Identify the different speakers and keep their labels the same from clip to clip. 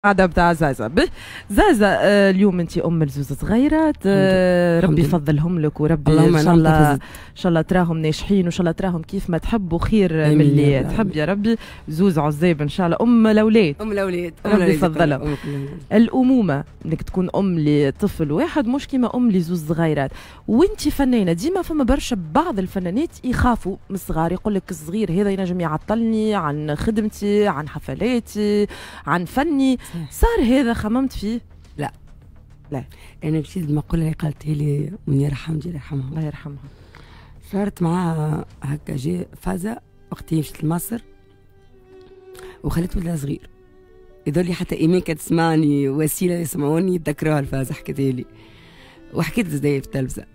Speaker 1: قاعدة بتاع زازا. زازا اليوم انت ام لزوز صغيرات، ربي يفضلهم لك وربي ان شاء الله ان شاء الله تراهم ناجحين وان شاء الله تراهم كيف ما تحب وخير من اللي تحب يا ربي. زوز عزاب ان شاء الله، ام الاولاد،
Speaker 2: ام الاولاد
Speaker 1: ربي يفضلهم. الامومة انك تكون ام لطفل واحد مش كيما ام لزوز صغيرات، وانت فنانة ديما فما برشا بعض الفنانات يخافوا من الصغار، يقول لك الصغير هذا ينجم يعطلني عن خدمتي، عن حفلاتي، عن فني. صار هذا خممت فيه؟
Speaker 2: لا
Speaker 1: لا،
Speaker 2: انا مشيت المقولة اللي قالتها لي منيرة حمدي الله يرحمها،
Speaker 1: الله يرحمها،
Speaker 2: صارت معاها هكا جي فازة وقت مشيت لمصر وخليت ولدها صغير، يظل حتى ايمان كانت تسمعني وسيلة يسمعوني يتذكروها الفازة، حكيتها لي وحكيت زي في التلفزة،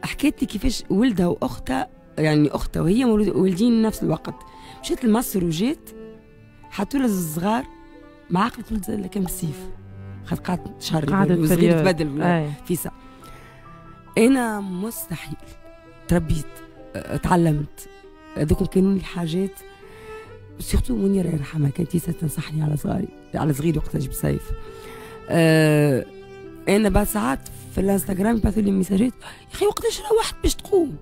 Speaker 2: حكيت لي كيفاش ولدها واختها، يعني اختها وهي والدين نفس الوقت، مشيت لمصر وجيت حطوا لها الصغار مع عقلة ولد اللي كان بالسيف، خاطر قعدت شهر وصغير تبدل فيسا. انا مستحيل، تربيت، تعلمت، هذوك كانوا لي حاجات، surtout منيرة يرحمها كانت تنصحني على صغاري، على صغيري وقتها جبت سيف. انا بعد ساعات في الانستغرام يبعثوا لي ميساجات، يا اخي وقتاش روحت باش تقوم؟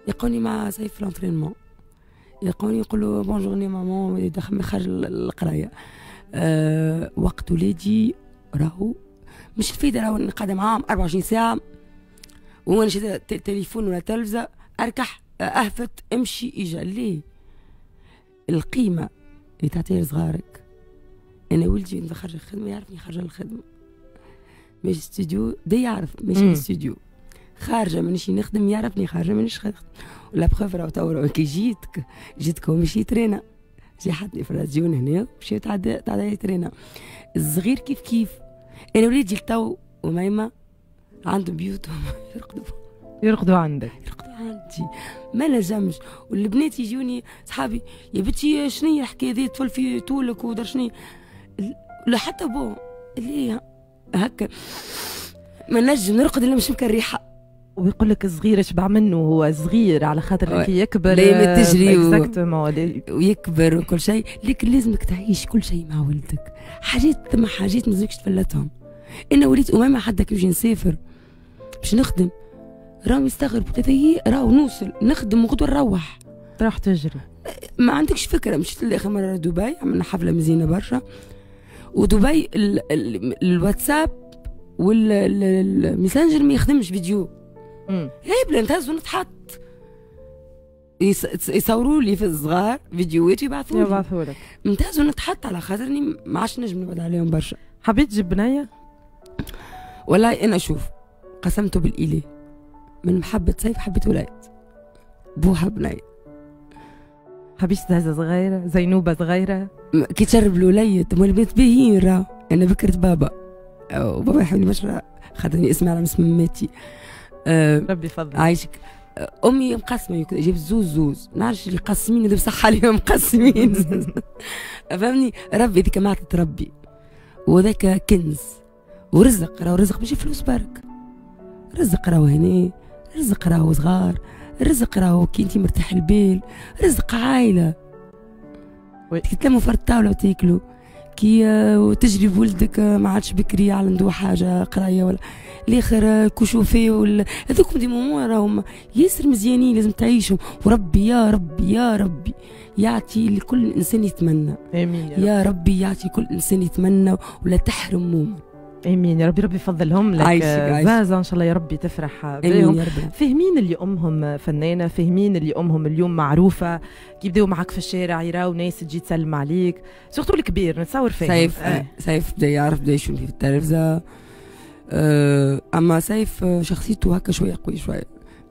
Speaker 2: يلقوني مع سيف في l'entraînement، يلقوني يقولوا bonne journée maman، دخل خارج القراية. وقت ولادي راهو مش الفايدة، راهو قاعدة معاهم 24 ساعة وانا شادة تليفون ولا تلفزه، اركح اهفت امشي اجا. ليه؟ القيمة اللي تعطيها لصغارك. انا ولدي خرج الخدمة يعرفني خارجه الخدمة، ماشي استوديو دا يعرف ماشي الاستوديو، خارجه مانيش نخدم يعرفني خارجه مانيش نخدم. la preuve راهو تو كي جيتك ومشي ترينا، جي حطني في الراديو هنا مشي تعدى ترينا. الصغير كيف كيف، انا وليدي لتو وميمه عندهم بيوتهم
Speaker 1: يرقدوا عندك،
Speaker 2: يرقدوا عندي، ما نجمش. والبنات يجوني صحابي، يا بنتي شنو هي الحكاية ذي، طفل في طولك ودار شنو، لا حتى بو اللي هكا ما نجم نرقد الا مش مكريحه.
Speaker 1: ويقول لك الصغير شبع منه، هو صغير على خاطر كي يكبر
Speaker 2: ليه تجري ويكبر وكل شيء، لكن لازمك تعيش كل شيء مع ولدك. حاجات ثم حاجات ما لازمكش تفلتهم. انا وليت امامه حتى كي نجي نسافر باش نخدم راهم يستغربوا، راهو نوصل نخدم وغدوه نروح،
Speaker 1: تروح تجري،
Speaker 2: ما عندكش فكرة. مشيت لاخر مرة دبي، عملنا حفلة مزيانه برشا، ودبي الواتساب والميسنجر ما يخدمش فيديو، هبلة نتهز ونتحط، يصوروا لي في الصغار فيديوهات ويبعثوا لي، نتهز ونتحط على خاطرني ما عادش نجم نبعد عليهم برشا.
Speaker 1: حبيت تجيب بنيه؟
Speaker 2: والله انا شوف قسمته بالاله، من محبة سيف حبيت ولاد، بوها بنيه.
Speaker 1: حبيت زازا صغيرة، زينوبه صغيرة،
Speaker 2: كي تشرب الوليد البنات باهيين راه. انا بكرت بابا وبابا يحبني برشا خاطرني اسمي على اسم ماتي.
Speaker 1: ربي يفضل
Speaker 2: عايشك. امي مقسمة، جابت زوز زوز، نعرفش اللي قسمين اللي بصح عليهم مقسمين فهمني. ربي هذيك ما تربي، وذاك كنز ورزق، راهو رزق ماشي فلوس برك، رزق راهو هنا، رزق راهو صغار، رزق راهو كي انت مرتاح البال، رزق عائلة تتلموا في الطاولة وتاكلوا، كي تجري بولدك ما عادش بكري على عنده حاجة قرايه ولا الاخر كشوفي ولا هذوك des moments راهم ياسر مزيانين لازم تعيشهم. وربي يا ربي يا ربي يعطي لكل انسان يتمنى.
Speaker 1: امين يا,
Speaker 2: يا ربي يعطي كل انسان يتمنى ولا تحرم مومن.
Speaker 1: امين يا ربي، ربي يفضلهم لك زازا، ان شاء الله يا ربي تفرح بهم. فاهمين اللي امهم فنانة، فاهمين اللي امهم اليوم معروفة، كي يبداو معك في الشارع يراو ناس تجي تسلم عليك، surtout الكبير نتصور فاهم.
Speaker 2: سيف سيف بدا يعرف، بدا يشوف في التلفزة. اما سيف شخصيته هكا شوية قوي شوية،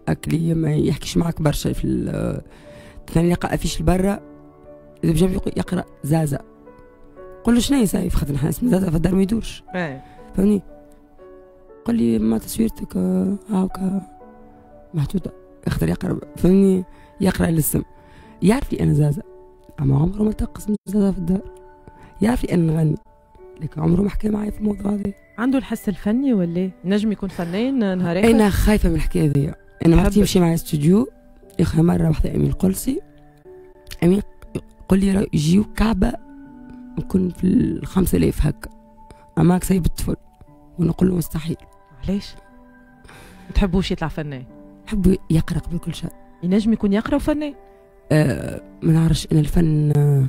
Speaker 2: اكلي ما يحكيش معك برشا في ثاني يلقى affiche لبرا اذا بجنب يقرا زازا، قول له شنو هي سيف، خاطر نحن اسم زازا في الدار ما يدورش. فهمني؟ قال لي ما تصويرتك هاكا محطوطة، يقدر يقرا، فهمني؟ يقرا الاسم، يعرف لي انا زازا، اما عمره ما تقص من زازا في الدار، يعرف لي انا نغني، لكن عمره ما حكى معايا في الموضوع هذا.
Speaker 1: عنده الحس الفني ولا نجم يكون فنان نهار اخر؟
Speaker 2: انا خايفة من الحكاية هذيا. انا وقت يمشي معايا استوديو اخر مرة واحدة امين القلسي، امين قال لي يجيو كعبه نكون في 5000 هكا، أماك سايب الطفل ونقول له مستحيل.
Speaker 1: علاش؟ ما تحبوش يطلع فنان؟
Speaker 2: نحب يقرا قبل كل شيء.
Speaker 1: ينجم يكون يقرا وفنان؟
Speaker 2: ما نعرفش انا الفن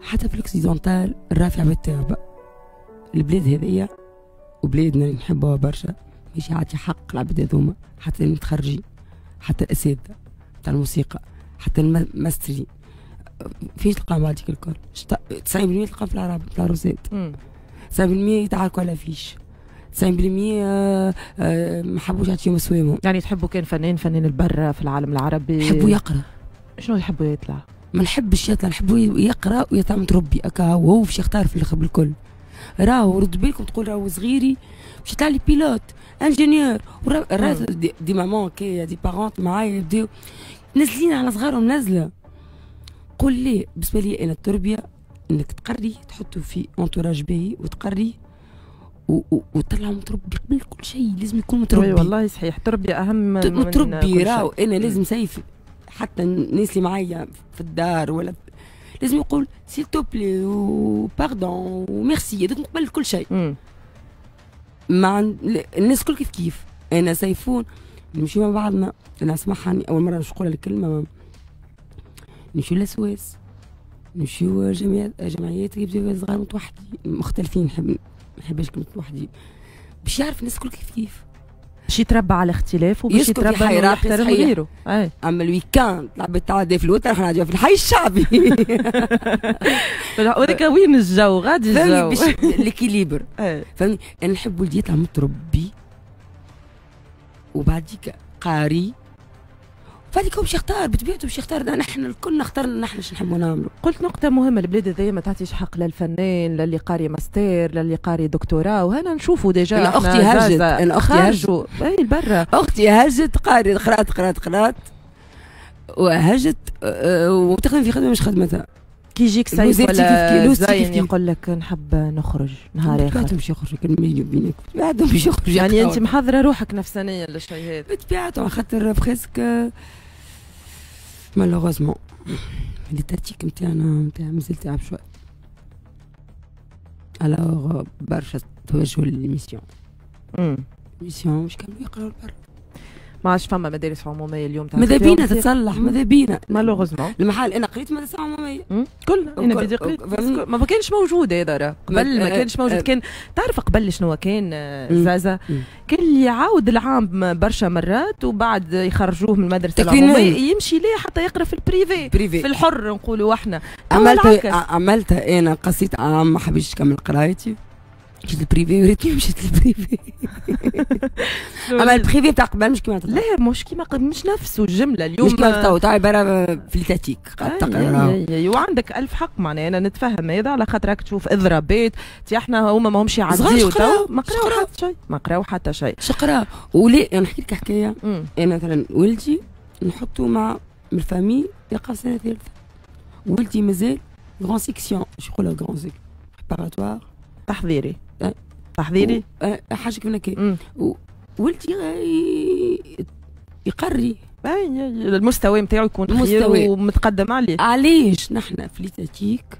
Speaker 2: حتى في ال occidental الرافع بالتعب. البلاد هذيا وبلادنا اللي نحبوها برشا مش يعطي حق العباد هذوما، حتى المتخرجين، حتى الاساتذة تاع الموسيقى، حتى الماسترين، فيش تلقاهم بعديك الكل. 90% تلقاهم في العرب في العروسات، 90% يتعاركوا على فيش، 90% ما حبوش يعطيهم سوامهم.
Speaker 1: يعني تحبوا كان فنان، فنان البرة في العالم العربي؟
Speaker 2: نحبوا يقرا.
Speaker 1: شنو يحبوا يطلع؟
Speaker 2: ما نحبش يطلع، نحبوا يقرا ويطلع متربي هكا، وهو باش يختار في الاخر بالكل. راهو رد بالكم تقول راهو صغيري باش يطلع لي pilote، ingénieur، des mamans كي des parents معايا يبداو نازلين على صغارهم نازله. قول لي بالنسبة لي انا التربية انك تقري، تحطه في entourage باهي وتقري وتطلع متربي قبل كل شيء، لازم يكون متربي.
Speaker 1: والله صحيح، التربية اهم من
Speaker 2: متربي. راهو انا لازم سيف حتى الناس اللي معايا في الدار ولا لازم يقول s'il te plaît و pardon و merci، هذوك قبل كل شيء. مع الناس كل كيف كيف. انا سيفون نمشي مع بعضنا، انا اسمعها اول مرة باش نقولها الكلمة، نمشيو للسواس، نمشيو جمعيات يبداو صغار متوحدين مختلفين، نحب ما نحبش كلمة متوحدين، باش يعرف الناس الكل كيف كيف،
Speaker 1: باش يتربى على الاختلاف وباش يتربى على يحترم غيره.
Speaker 2: اما ال week-end العباد تعدي في الوتر، احنا نعديو في الحي الشعبي.
Speaker 1: وذاك وين الجو غادي الجو
Speaker 2: باش l'équilibre. فهمني، انا نحب ولدي يطلع متربي وبعديك قاري، بعديك هو باش يختار بطبيعته، باش يختار. نحن الكل اخترنا نحن شنو نحبوا نعملوا.
Speaker 1: قلت نقطة مهمة، البلاد هذيا ما تعطيش حق للفنان، للي قاري ماستير، للي قاري دكتوراه، وهنا نشوفوا déjà.
Speaker 2: أنا أختي هرجت، أنا أختي
Speaker 1: هرجت أي برا،
Speaker 2: أختي هرجت قاري، قرات قرات قرات وهجت وتخدم في خدمة مش خدمتها.
Speaker 1: كي يجيك سيف ولا زين يقول لك نحب نخرج نهار اخر،
Speaker 2: بطبيعته باش يخرج، كلمة بينك بطبيعته باش يخرج.
Speaker 1: يعني انت محضرة روحك نفسانيا للشيء هذا؟
Speaker 2: بطبيعته، خاطر presque malheureusement l'étatique نتاعنا نتاع مازال تعب شوي. alors برشا توجهوا لل mission، mission مش كانوا يقراو البر.
Speaker 1: ما عادش فما مدارس عموميه اليوم.
Speaker 2: ماذا بينا تتصلح، ماذا بينا
Speaker 1: malheureusement.
Speaker 2: المحل انا قريت مدرسه عموميه
Speaker 1: كلنا، انا بدي قريت، ما كانش موجود هذا راه قبل، ما كانش موجود. كان تعرف قبل شنو كان زازا؟ كان اللي يعاود العام برشا مرات وبعد يخرجوه من المدرسة العمومية يمشي ليه حتى يقرا في ال privé، في الحر نقولوا احنا.
Speaker 2: عملتها انا، قصيت عام ما حبيتش نكمل قرايتي، مشيت لل privé وريتني مشيت لل privé. اما ال privé تاع قبل مش كيما
Speaker 1: لا، مش كيما مش نفسه الجملة اليوم،
Speaker 2: مش كيما تو تاع عبارة في l'étatique قاعد تقرا.
Speaker 1: وعندك الف حق، معناها انا نتفهم هذا على خاطر راك تشوف اضرابات، تي احنا هما ماهمش يعديو تو، ما قراو حتى شيء، ما قراو حتى شيء.
Speaker 2: شقرا ولا انا نحكي لك حكاية. انا مثلا ولدي نحطه مع ال famille يقرا سنة ثالثة، ولدي مازال grande section، شو يقولوا grande section préparatoire،
Speaker 1: تحضيري تحضيري
Speaker 2: حاجة كيف هكا. ولدي يقري
Speaker 1: المستوى نتاعو يكون خير ومتقدم عليه.
Speaker 2: علاش نحن في l'étatique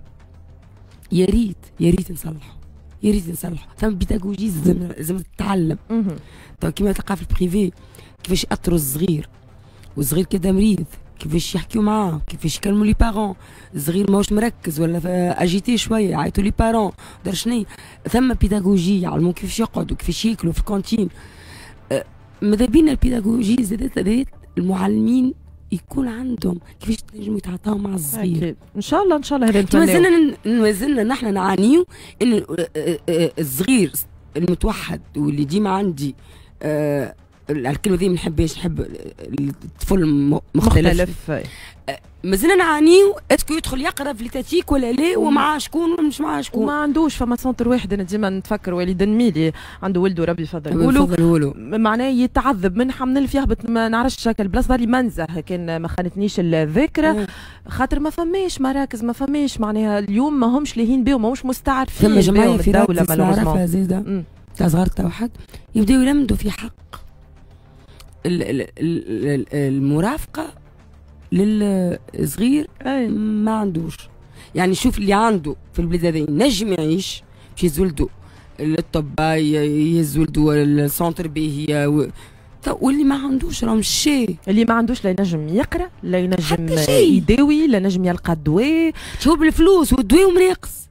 Speaker 2: يا ريت يا ريت نصلحوا، يا ريت نصلحوا. ثم بيداغوجي لازم تتعلم. تو كيما تلقى في ال privé كيفاش يأثروا الصغير، والصغير كذا مريض كيفاش يحكيو معاه، كيفاش يكلموا les parents، الصغير ماهوش مركز ولا agité شوية يعيطوا les parents دار شنو. ثم بيداغوجي يعلموا كيفاش يقعدوا كيفاش ياكلوا في الكانتين. ماذا بينا البيداغوجي زادت المعلمين يكون عندهم كيفاش تنجموا يتعاطاو مع الصغير.
Speaker 1: أكيد. ان شاء الله ان شاء الله هذا نتمنى.
Speaker 2: مازلنا نحن نعانيو ان الصغير المتوحد واللي ديما عندي الكلمة دي ما نحبهاش، نحب الطفل مختلف. مازلنا نعانيو est-ce que يدخل يقرا في l'étatique ولا لا، ومع شكون ولا مش مع شكون.
Speaker 1: وما عندوش فما centre واحد. انا ديما نتفكر وليد نميلي عنده ولده ربي يفضله، معناه يتعذب من حمل يهبط ما نعرفش شكل البلاصة اللي منزه كان ما خانتنيش الذاكرة، خاطر ما فماش مراكز، ما فماش معناها اليوم ما همش لاهين بهم، ماهمش مستعرفين
Speaker 2: ثم جمعية في الدولة زاده تاع صغار توحد يبداو يلمدوا في حق المرافقة للصغير ما عندوش. يعني شوف اللي عنده في البلاد هذا ينجم يعيش، باش يهز ولده للطب، يهز ولده لل centre باهي، واللي ما عندوش راه مشي.
Speaker 1: اللي ما عندوش لا ينجم يقرا، لا ينجم يداوي، لا ينجم يلقى الدواء.
Speaker 2: شوف بالفلوس والدواء ومناقص.